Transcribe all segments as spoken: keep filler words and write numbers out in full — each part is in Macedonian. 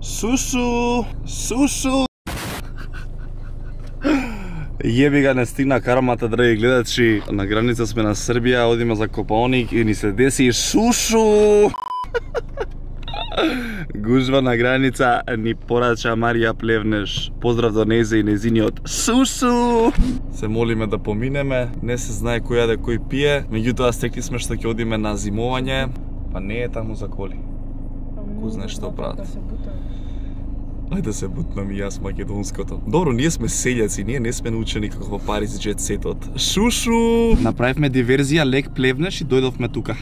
Сушу! Сушу! Јеби га, не стигна кармата, драги гледачи. На граница сме на Србија, одиме за Копаоник и ни се деси шушу! Гужва на граница ни порача Марија Плевнеш. Поздрав до незе и незиниот сушу! Се молиме да поминеме, не се знае кој јаде кој пие, меѓутоа стекли сме што ќе одиме на зимување, па не е таму за коли. Кој знае што прават. Ајде да се бутнам и јас македонското. Добро, ние сме селјаци, ние не сме научени како во Париз Jet Set-от. Шушу! Направивме диверзија, лек Плевнеш и дојдовме тука.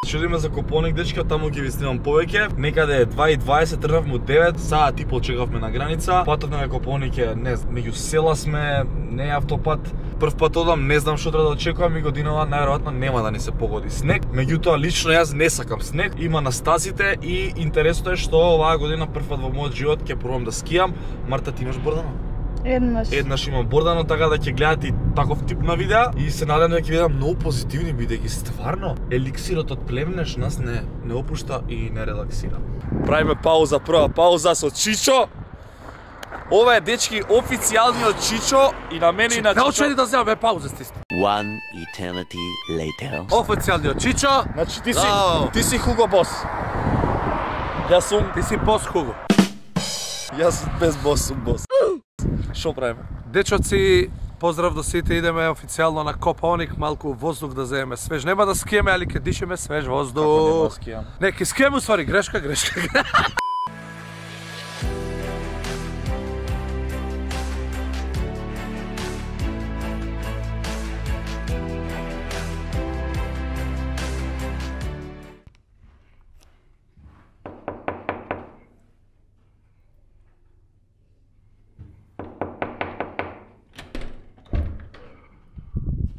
Шедиме за Копаоник, дечки, од таму ќе ви снимам повеќе. Некаде е два и дваесет, тргнавме од девет, саат и пол чекавме на граница. Патот на Копаоник е, не знам, меѓу села сме, не е автопат. Прв пат одам, не знам што треба да очекувам и годинава најверојатно нема да ни се погоди снег. Меѓутоа лично јас не сакам снег, има на стазите и интересно е што оваа година прв пат во мојот живот ќе пробам да скијам. Марта, ти имаш бордано? Еднаш. Еднаш имам бордано, така да ќе гледате и таков тип на видеа и се надевам да ќе видам многу позитивни бидејќи стварно еликсирот од Плевнеш нас не не опушта и не релаксира. Правиме пауза, прва пауза со Чичо. Ова е, дечки, официјалниот Чичо и на мене и на Чичо. Не очели да земаме пауза сте. One eternity later. Официјалниот Чичо. Значи ти си Браво. ти си Хуго бос. Јас сум Ти си бос Хуго. јас без бос сум бос. Шо правиме? Дечоци, поздрав до сите, идеме официјално на Копаоник, малку воздух да земеме свеж. Нема да скиеме, али ќе дишеме свеж воздух. Како нема да скијам? Не, ќе скиеме, усвари, грешка, грешка.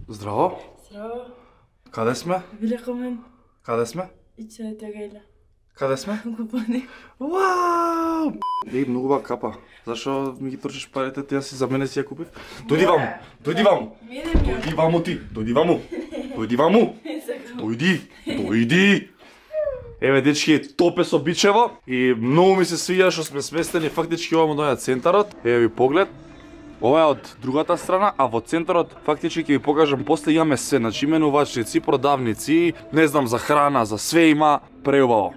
Здраво. Здраво. Каде сме? Великомен. Каде сме? И че тегайла. Каде сме? Копаоник. Вау! Ей, многу ба капа. Зашо ми ги трчиш парите, ти ја си за мене си ја купив? Дојди ваму, дојди ваму. Дојди ваму ти, дојди ваму. Дојди ваму. Дојди, дојди. Еве, дечки, топе со бичево и многу ми се свиѓа што сме сместени фактички овamo доја центарот. Еве ви поглед. Ова е од другата страна, а во центарот фактички ќе ви покажам после имаме се, значи именувачници, продавници, не знам, за храна, за све има, преубаво.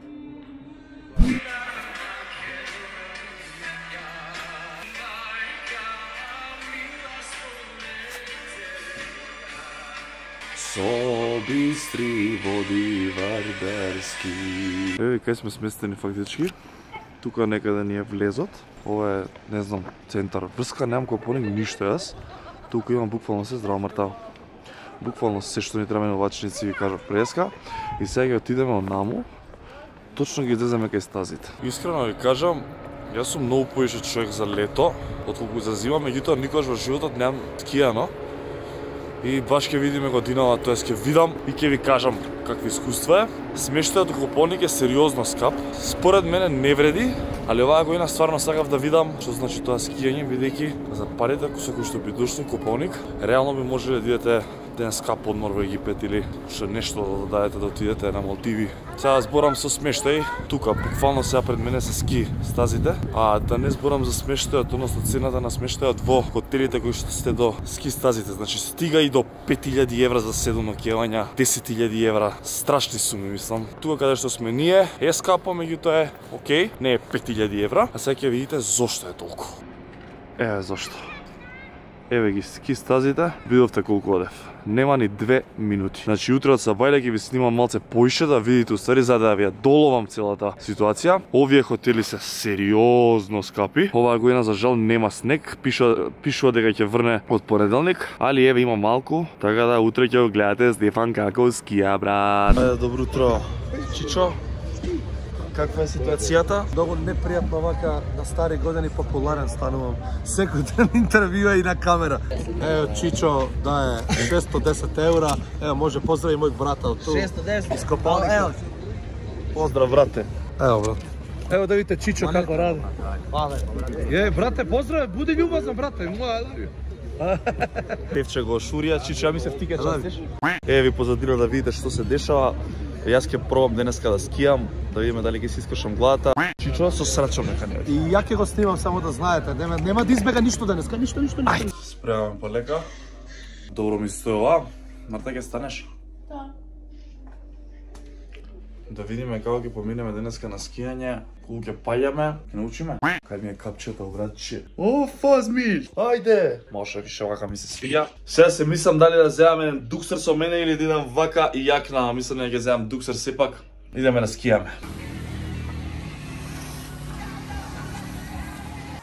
Со бистри води вардарски. Еве кај сме сместени фактички. Тука некаде ни е влезот. Ова е, не знам, центар. Врска немам Копаоник ништо јас. Тука имам буквално се, здраво Мартаво. Буквално се што ни треба иновачници ви кажав преска. И сега ќе отидеме онаму. Точно ги излеземе кај стазите. Искрено ви кажам, јас сум многу поише човек за лето, отколку за зима, меѓутоа никогаш во животот немам скијано. И баш ќе видиме годинава, тоест ќе видам и ќе ви кажам какви искуства е. Смештајот во Копаоник е сериозно скап. Според мене не вреди, али оваа година стварно сакав да видам што значи тоа скијање, бидејќи за парите со кои што би дошли во Копаоник, реално би можеле да идете ден скап одмор во Египет или што нешто да дадете да отидете на Малдиви. Сега зборам со смештај, тука буквално сега пред мене се ски стазите, а да не зборам за смештајот, односно цената на смештајот во хотелите кои што сте до ски стазите, значи стига и до пет илјади евра за седум ноќевања, десет илјади евра, страшни суми мислам. Тука каде што сме ние е скапо, меѓутоа е окей, не е пет илјади евра, а сега ќе видите зошто е толку. Еве зошто. Еве ги ски стазите, видовте колку одев. Нема ни две минути. Значи утре од сабајле ќе ви снимам малце поише да видите уствари за да ви ја доловам целата ситуација. Овие хотели се сериозно скапи. Оваа година за жал нема снег, пишува пишува дека ќе врне од понеделник, али еве има малку, така да утре ќе го гледате Стефан како скија, брат. Ајде, добро утро. Чичо, каква е ситуацијата? Многу непријатно вака на стари години популарен станувам. Секој ден интервјуа и на камера. Ево Чичо да е шестоста и десет евра. Ево може поздрави мој брат од ту. шестоста и десет. Из Копаоник. Ево. Поздрав, брате. Ево брат. Ево да видите Чичо како ради. Пале, Е, брате, поздрави, буди љубазен брате. Моја. Певче го шурија, Чичо, ја мислев ти ке частиш. Еве ви позадира да видите што се дешава. Јас ќе пробам денеска да скијам, да видиме дали ќе си искушам главата. Чичо, со срачом нека не. И ја ќе го снимам, само да знаете, нема, нема да избега ништо денеска, ништо, ништо, ништо. Ајде, спремаме полека. Добро ми стои ова. Марта, ќе станеш? Да. Да видиме како ќе поминеме денеска на скијање, кога ќе паѓаме, ќе научиме. Кај ми е капчето, братче. О, фазмиш! Ајде! Може више вака ми се свиѓа. Сега се мислам дали да земаме дуксер со мене или да идам вака и јакна, мислам дека ќе земам дуксер сепак. Идеме на скијаме.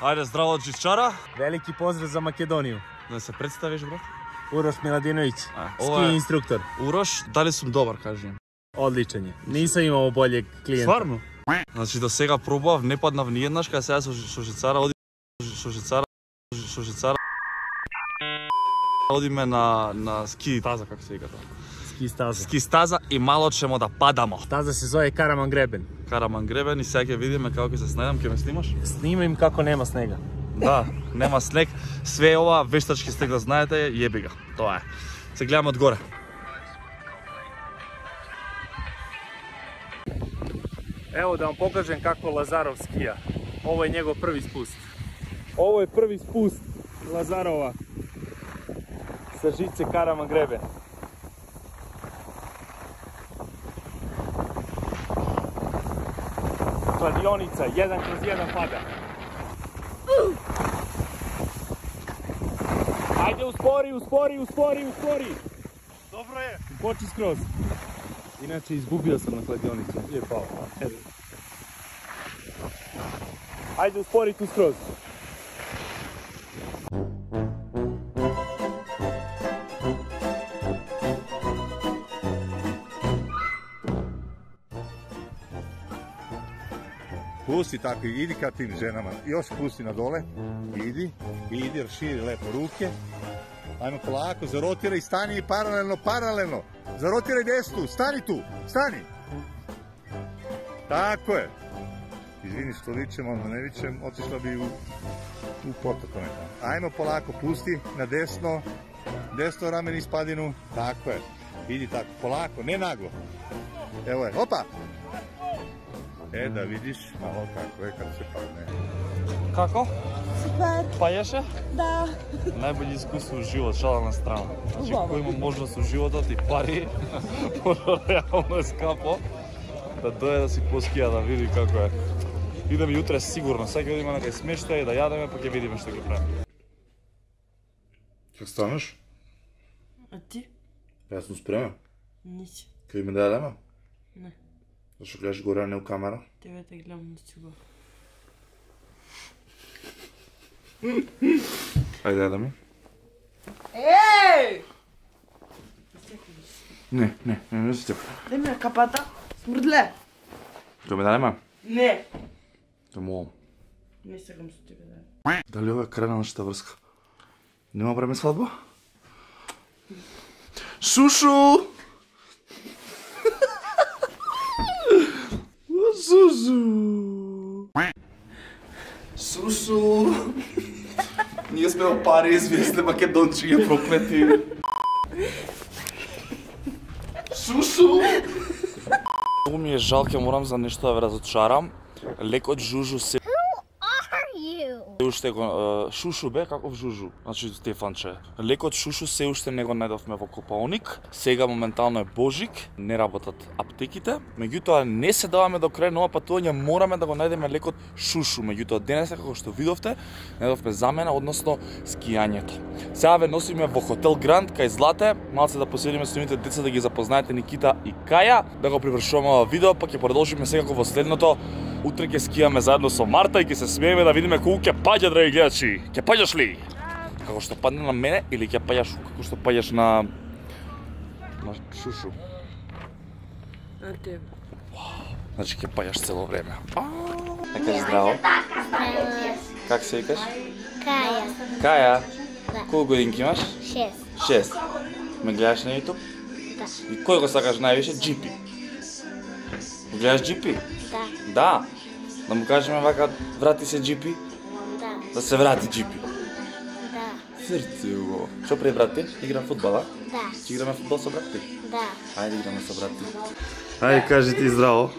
Ајде, здраво од Чичара. Велики поздрав за Македонија. Да се представиш, брат? Урош Миладиновиќ, ова ски е- инструктор. Урош, дали сум добар, кажи ми. Одличен е. Нисам имал боле клиенти. Стварно? Значи до сега пробав, не паднав ни еднаш, кај сега со со жицара оди со жицара со жицара одиме на на ски таза, како се вика тоа. Ски стаза. Ски стаза и мало чемо да падамо. Таза се зове Караман Гребен. Караман Гребен и сега ќе видиме како ќе се снајдам, ќе ме снимаш? Снимам како нема снега. Да, нема снег. Све ова вештачки стег да знаете, јеби га. Тоа е. Се гледаме од горе. Ево да вам покажем како Лазаров скија. Ово е негов први спуст. Ово е први спуст Лазарова sa žice Karaman Greben. Kladionica, jedan kroz jedan pada. Ajde, uspori, uspori, uspori, uspori. Dobro je. Poči skroz. Inače, izgubio sam na kladionicu. Gdje je pao? Ajde, uspori tu skroz. Pusti tako, idi ka tim ženama, još pusti na dole, idi, idi, raširi lepo ruke, ajmo polako, zarotiraj, stani paralelno, paralelno, zarotiraj desnu, stani tu, stani, tako je, izvini što vičem, onda ne vičem, otišla bi u, u potok nekako, ajmo polako, pusti na desno, desno ramen iz padinu, tako je, idi tako, polako, ne naglo, evo je, opa! E, da vidiš malo kako je kad se padne. Како? Супер. Пајаше? Да. Најбољи искуство у живот, шала на страна. Значи, кој има можност у животот и пари, може реално е скапо, да дојде да си поскија, да види како е. Идеме јутре сигурно, сега ќе одиме на кај смештај да јадеме, па ќе видиме што ќе правиме. Како станеш? А ти? Јас сум спремен. Нisi. Ќе име да јадеме? Не. Зашто гледаш горе, а не у камера? Тебе те гледам на стигува. Ајде, јадеме. Еј! Не, не, не, не се тепа. Дај ми капата. Смрдле. Ќе ме дадеме? Не. Те молам. Не сакам со тебе да. Дали ова е крај на нашата врска? Нема време свадба? Шушу! Сусу! Сусу! Ние сме во Париз, вие сте македончи, ја проклети. Сусу! Многу ми е жал, ќе морам за нешто да ве разочарам. Лекот жужу се уште го шушу бе, каков жужу? Значи Стефанче. Лекот шушу се уште не го најдовме во Копаоник. Сега моментално е Божик, не работат аптеките. Меѓутоа не се даваме до крај на ова патување, мораме да го најдеме лекот шушу. Меѓутоа денес како што видовте, најдовме замена, односно скијањето. Сега ве носиме во хотел Гранд кај Злате, малце да поседиме со нивните деца да ги запознаете Никита и Каја, да го привршуваме ова видео, па ќе продолжиме секако во следното. Утре ќе скијаме заедно со Марта и ќе се смееме да видиме колку ќе паѓа, драги гледачи. Ќе паѓаш ли? Како што падне на мене или ќе паѓаш како што паѓаш на на шушу? На тебе. Значи ќе паѓаш цело време. Нека здраво. Как се викаш? Каја. Каја. Да. Колку годинки имаш? Шест. Шест. Ме гледаш на YouTube? Да. И кој го сакаш највише? Джи Пи. Го гледаш Джи Пи? Да. Да. Да му кажеме вака, врати се Джи Пи? Да. Да се врати Джи Пи. Да. Срцево. Што прави брат ти? Играм фудбал, а? Да. Ќе играме фудбал со брат ти? Да. Ајде играме со брат ти. Ајде кажи ти здраво.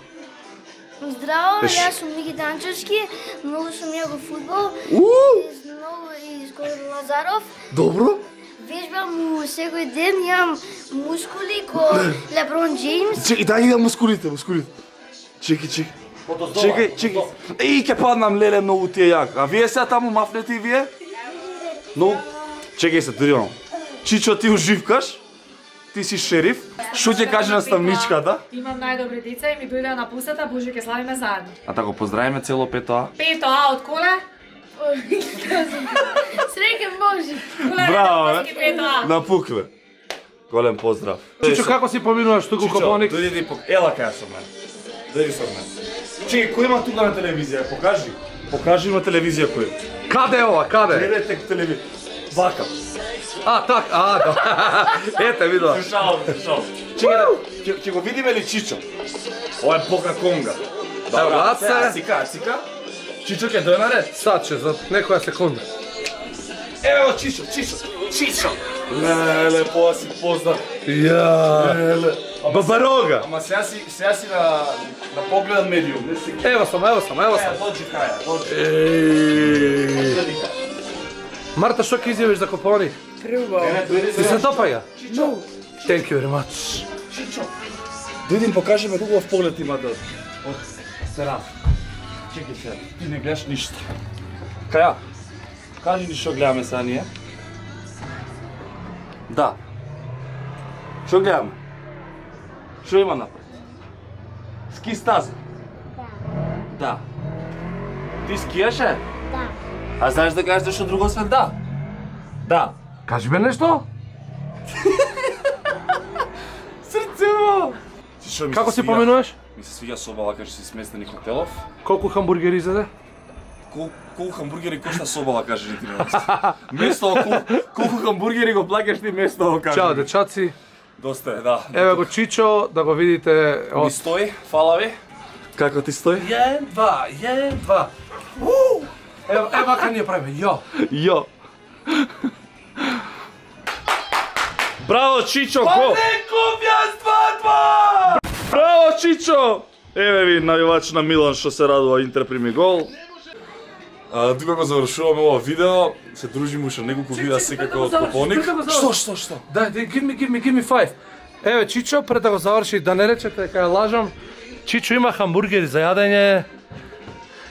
Здраво, Пеш. јас сум Мики Данчевски, многу сум јако фудбал. Уу! Из многу из Кој Лазаров. Добро? Вежбам му секој ден, имам мускули ко Леброн Джеймс. Чекай, дај да мускулите, мускулите. Чекай, чекай. Чекай, чекай. Еј, ке паднам, леле, многу ти е јак. А вие сега таму мафнете и вие? Но, чекай се, дури имам. Чичо, ти уживкаш? Ти си шериф? Шо ќе каже наставничката? Имам најдобри деца и ми дојдеа на пустата, Боже, ќе славиме заедно. А тако поздравиме цело пето А. Пето А од коле? Среќен Боже. Браво, бе. Пето А. Напукле. Голем поздрав. Чичо, како си поминуваш туку Копоник? Дојди да пок... Ела кај со мене. Дојди со мене. Чекай, кој има тука на телевизија? Покажи. Покажи има телевизија кој. Каде е ова, каде? Гледате телевизија. Вака. А, так, а, да. Ете, видела. Слушао, слушао. Чекай, да, ќе ќе го видиме ли Чичо? Ова е Бока Конга. Ево, брат сега, се. Цика, цика. Чичо ќе дојде наред. Сад ќе, за некоја секунда. Ево Чичо, Чичо, Чичо. Леле, по си поздрав. Ја. Леле. Бабарога. Ама сега си, сега си на, на поглед медиум, не си... Ево сам, ево сам, ево сам. Е, доđi краја, доđi. Еј. Гледи кај. Марта, што ќе изјавиш за Копоник? Преубаво. Не, дојди Ти се за... допаѓа? Чичо, Thank you very much. Чичо. Дојди им покажи ме хубав поглед има да... Од терас. Чекай се, ти не гледаш ништо. Каја? Кажи ни што гледаме сега ние. Да. Што гледаме? Што има напред? Ски стаза? Да. Да. Ти скијаше? Да. А знаеш да кажеш нешто друго освен да? Да. Кажи ме нешто? Срцево! Како си поминуваш? Ми се свиѓа собала кај што си сместени хотелов. Колку хамбургери изеде? Кол, колку хамбургери кошта собала, каже ни ти на место, кол, колку хамбургери го плаќаш ти место, каже. Чао, дечаци. Доста е, да. Еве го Чичо, да го видите. Ми стои, фала ви. Како ти стои? Јен, два, јен, два. Ево, ево вака ние правиме, јо. Јо. Браво, Чичо, го! Неков јас два-два! Браво, Чичо! Еве ви навивач на Милан што се радува, Интер прими гол. А, тука го завршуваме ова видео, се дружиме уште неколку видеа секако од Копоник. Што, што, што? Да, да, give me, give me, give me five. Еве Чичо, пред да го заврши, да не речете кај лажам. Чичо има хамбургери за јадење.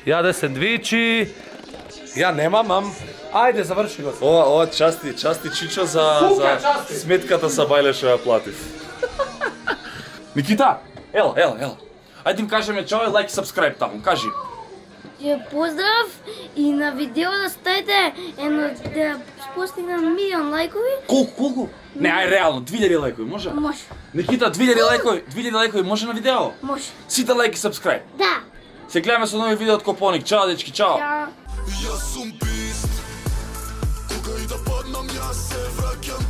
Јаде сендвичи. Ја немам, мам. Ајде, заврши го. Ова, ова части, части Чичо за, Кука, за части. сметката са бајле што ја платив. Никита, ела, ела, ела. Ајде им кажеме чао и лайк и сабскрайб таму, кажи. Ја поздрав и на видео да ставите едно да постигнем милион лайкови. Колку, колку? Не, ај реално, две илјади лайкови, може? Може. Никита, две илјади лайкови, две илјади лайкови може на видео? Може. Сите лайк и сабскрайб. Да. Се гледаме со нови видео од Копоник. Чао, дечки, чао. Ја. Јас сум бист, кога и да паднам јас се враќам